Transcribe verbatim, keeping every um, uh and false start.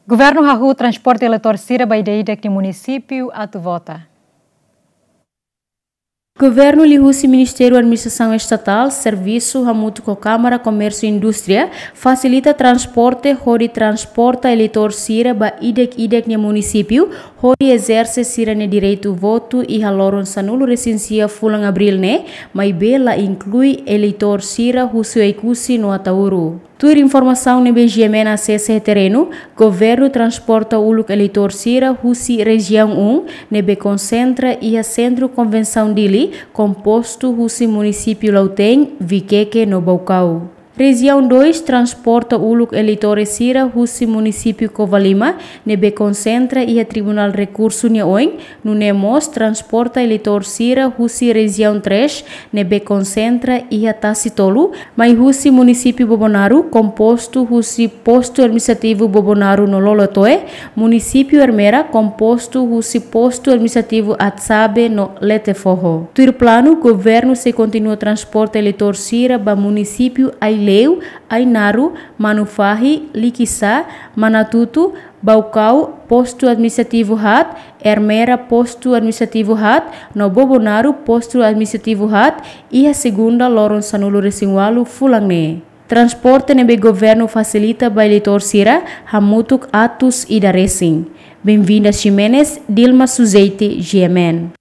Governu hahú transporte eleitór sira ba ida-idak nia munisípiu atu vota. Governu liuhusi Ministériu Administrasaun Estatál, servisu hamutuk ho Kámara Komérsiu Indústria, fasilita transporte hodi transporta eleitór sira ba ida-idak nia munisípiu, hodi ezerse sira-nia direitu votu iha loron sanulu-resin-sia fulan Abríl ne'e, maibé la inklui eleitór sira husi Oekusi no Ataúro. Tuir informasaun ne'ebé GMN asesa iha terrenu, governu transporta uluk eleitór sira husi Rejiaun um, ne'ebé konsentra iha Sentru Konvensaun Dili, kompostu husi munisípiu Lautein, Viqueque no Baucau. Rejiaun dois transporta uluk eleitór sira husi munisípiu Covalima, ne'ebé konsentra iha Tribunál Rekursu nia oin, nune'e mós transporta eleitór sira husi Rejiaun três, ne'ebé konsentra iha Tasitolu, mai husi munisípiu Bobonaro, kompostu husi Postu Administrativu Bobonaro no Lolotoe, munisípiu Ermera, kompostu husi Postu Administrativu Atsabe no Letefoho. Tuir planu, governu sei kontinua transporta eleitór sira ba munisípiu Aileu, Ainaro, Manufahi, Likisá, Manatuto, Baucau, Postu Administrativu haat, Ermera, Postu Administrativu haat, no Bobonaro, Postu Administrativu haat, iha segunda loron sanulu-resin-ualu fulan ne'e. Transporte ne'ebé governu fasilita ba eleitór sira hamutuk atus ida resin. Benvinda Ximenes, Dilma Sujeiti, GMN.